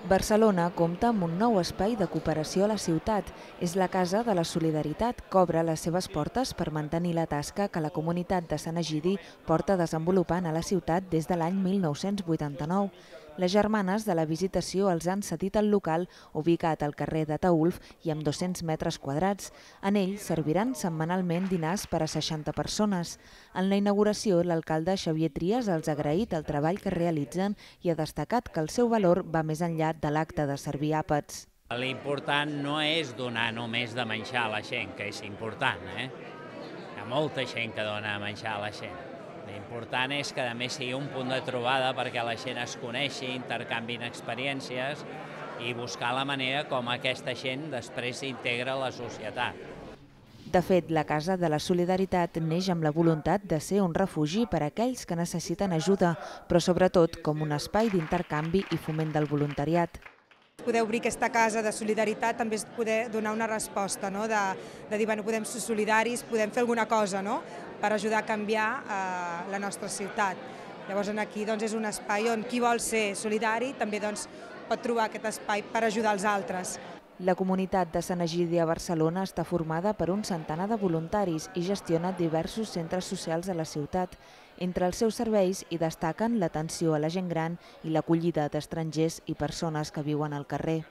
Barcelona compta amb un nou espai de cooperació a la ciutat. És la Casa de la Solidaritat, que obre les seves portes per mantenir la tasca que la comunitat de Sant Egidi porta desenvolupant a la ciutat des de l'any 1989. Les germanes de la Visitació els han cedit el local, ubicat al carrer de Taülf i amb 200 metres quadrats. En ell serviran setmanalment dinars per a 60 persones. En la inauguració, l'alcalde Xavier Trias els ha agraït el treball que realitzen i ha destacat que el seu valor va més enllà de l'acte de servir àpats. L'important no és donar només de menjar a la gent, que és important, Hi ha molta gent que dona a menjar a la gent. L'important és que a més sigui un punt de trobada perquè la gent es coneixi, intercanviïn experiències i buscar la manera com aquesta gent després s'integra a la societat. De fet, la Casa de la Solidaritat neix amb la voluntat de ser un refugi per a aquells que necessiten ajuda, però sobretot com un espai d'intercanvi i foment del voluntariat. Poder obrir aquesta casa de solidaritat també és poder donar una resposta, de dir, bueno, podem ser solidaris, podem fer alguna cosa per ajudar a canviar la nostra ciutat. Llavors aquí és un espai on qui vol ser solidari també pot trobar aquest espai per ajudar els altres. La comunitat de Sant Egidi a Barcelona està formada per un centenar de voluntaris i gestiona diversos centres socials a la ciutat. Entre els seus serveis hi destaquen l'atenció a la gent gran i l'acollida d'estrangers i persones que viuen al carrer.